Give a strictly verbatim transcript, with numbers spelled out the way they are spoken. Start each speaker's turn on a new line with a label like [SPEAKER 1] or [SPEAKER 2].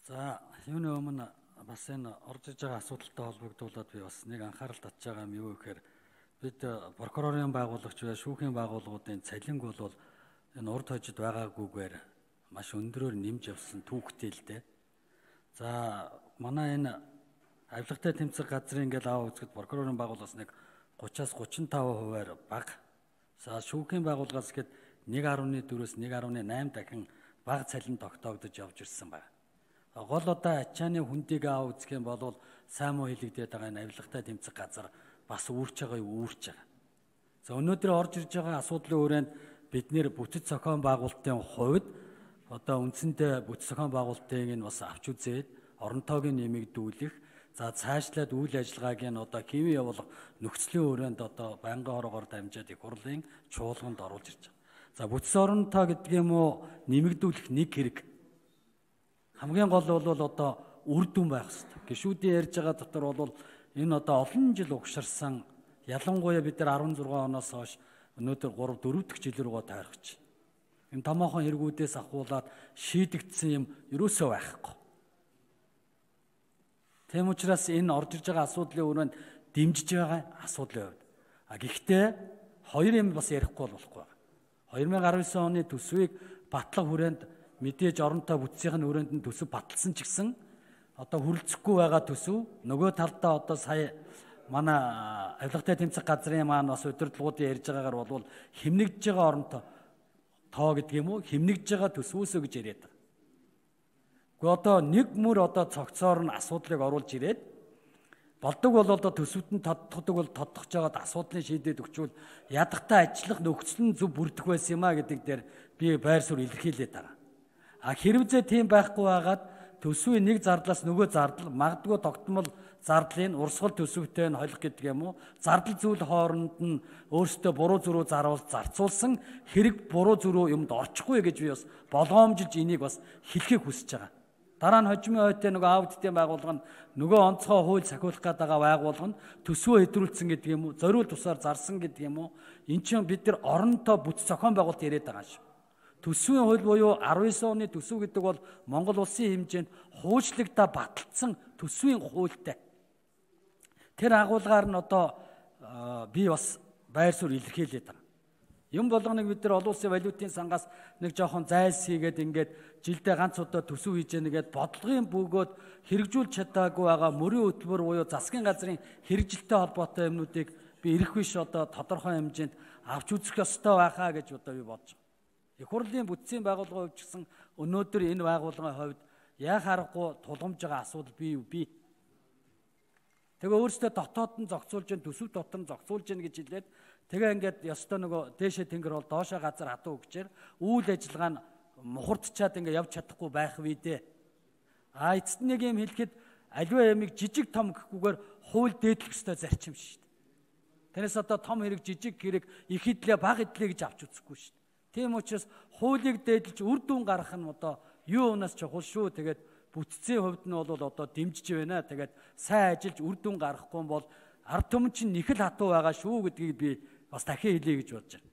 [SPEAKER 1] За юуны өмнө бас энэ орж иж байгаа асуудалтай холбогдуулаад би бас нэг анхаарал татж байгаа юм юу гэхээр бид прокурорын байгуулагч ба шүүхийн байгууллагуудын цалинг бол энэ урд хожид байгаагүйгээр маш өндөрөөр нэмж явсан түүхтэй л дээ. За манай энэ авилгатай тэмцэх газрын ингээл аав үзэхэд прокурорын байгууллагаас нэг гураваас гурван таван хувиар бага. За шүүхийн байгууллагаас гээд нэг гаруй дөрвөөс нэг гаруй осем дахин бага цалин тогтоогдож явж ирсэн байна. Гол одоо ачааны хүндийг аав үзэх юм бол сайн муу хэлэгдээд байгаа энэ авилгатай тэмцэх газар бас үүрч байгаа юу үүрч байгаа. За өнөөдөр орж ирж байгаа асуудлын хүрээнд бид нэр бүтэц зохион байгуулалтын хувьд одоо үндсэндээ бүтэц зохион байгуулалтыг нь бас авч үзээд оронтойг нь нэмэгдүүлэх, за цаашлаад үйл ажиллагааг нь одоо хэвэн явуулах нөхцөлийн хүрээнд одоо байнгын ороогоор дамжаад их хурлын чуулганд оруулж ирж байгаа. За бүтэц оронтой гэдэг юм уу нэмэгдүүлэх нэг хэрэг. Хамгийн гол бол одоо үр дүн байх хэрэгтэй. Гишүүдийн ярьж байгаа дотор бол энэ одоо олон жил угширсан, ялангуяа бид нар арван зургаан оноос хойш өнөөдөр гурав дөрөв дахь жил рүүгээ тойрогч. Энэ томоохон хэрэгүүдээс ахуулаад шийдэгдсэн юм ерөөсөө байхгүй. Тэм учраас энэ орж ирж байгаа асуудлын өрөөнд дэмжиж байгаа асуудлын хувьд. А гэхдээ хоёр юм бас ярихгүй болохгүй байна. две тысячи десять оны төсвийг батлах хүрээнд мэдээж оронтой бүтцийн хүрээнд нь төсөв баталсан ч гэсэн одоо хүрэлцэхгүй байгаа төсөв нөгөө талдаа одоо сая манай авилгатай тэмцэх газрын маань бас удирдлагуудын ярьж байгаагаар бол хэмнэгдэж байгаа оронтой тоо гэдэг юм уу хэмнэгдэж байгаа төсвөөсөө гэж яриад байгаа. Гэхдээ одоо нэг мөр одоо цогцоор нь асуудлыг оруулж ирээд болдог бол одоо төсөвд нь тодтогдог бол тодтогч жагаад асуудлыг шийдээд өгчвөл ядахтай ажиллах нөхцөл нь зөв бүрдэх байсан юм а гэдэг дээр би байр суурь илэрхийлээд байгаа. А хэрвээ тийм байхгүй байгаад төсвийн нэг зардлаас нөгөө зардал магадгүй тогтмол зардлын урсгал төсөвтэй нь холих гэдэг юм уу зардал зүйл хооронд нь өөрсдөө буруу зөрүү заруулж зарцуулсан хэрэг буруу зөрүү юмд орчихгүй гэж би бас болгоомжилж энийг бас хэлхийг хүсэж байгаа. Дараа нь хожимын ойтой нөгөө аудитын байгууллага нь нөгөө онцгой хууль сахиулах гэдэг байгууллага нь төсвөө хэдрүүлсэн гэдэг юм уу зориул тусаар зарсан гэдэг юм уу эн чинь бид нар оронтой бүтэц зохион байгуулалт яриад байгаа шүү. Төсвийн хууль буюу арван девять оны төсөв гэдэг бол Монгол улсын хэмжээнд хуульчлагдаа баталсан төсвийн хуультай. Тэр агуулгаар нь одоо би бас байр суурь илэрхийлээд байгаа. Юм болгоныг бид нар олон улсын валютын сангаас нэг жоохон зайлс хийгээд ингээд жилдээ ганц удаа төсөв хийж яагаад бодлогын бөгөөд хэрэгжүүлж чадаагүй байгаа мөрийн хөтөлбөр буюу засгийн газрын хэрэгжилтэй холбоотой юмнуудыг би ирэх биш одоо тодорхой хэмжээнд авч үзэх ёстой байхаа гэж одоо би бодож байгаа. Их хурлын бүтцийн байгууллагын хувьд ч гэсэн өнөөдөр энэ байгууллагын хувьд яах аргагүй тулгамж байгаа асуудал бий юу бий. Тэгээ өөрсдөө дотоод нь зохицуулж, төсөв дотор нь зохицуулж гин гэж хэлээд тэгээ ингээд ёстой нөгөө дээшээ тэнгэр бол доошоо газар хатуу өгчээр үйл ажиллагаа нь мухардчаад ингээд явж чадахгүй байх вэ дээ. А эцэст нэг юм хэлэхэд аливаа ямиг жижиг том гэхгүйгээр хууль дээдлэх ёстой зарчим шүү дээ. Тэрнээс одоо том хэрэг жижиг хэрэг их хэдлээ бага хэдлээ гэж авч үзэхгүй шүү дээ. Тийм учраас хуулийг дээдлж үр дүн гаргах нь одоо юу унаас чухал шүү. Тэгээд бүтцийн хувьд нь бол одоо дэмжиж байна. Тэгээд сайн ажиллаж үр дүн гаргахгүй бол ард түмэн чинь нэхэл хатуу байгаа шүү гэдгийг би бас дахин хэлье гэж бодож байна.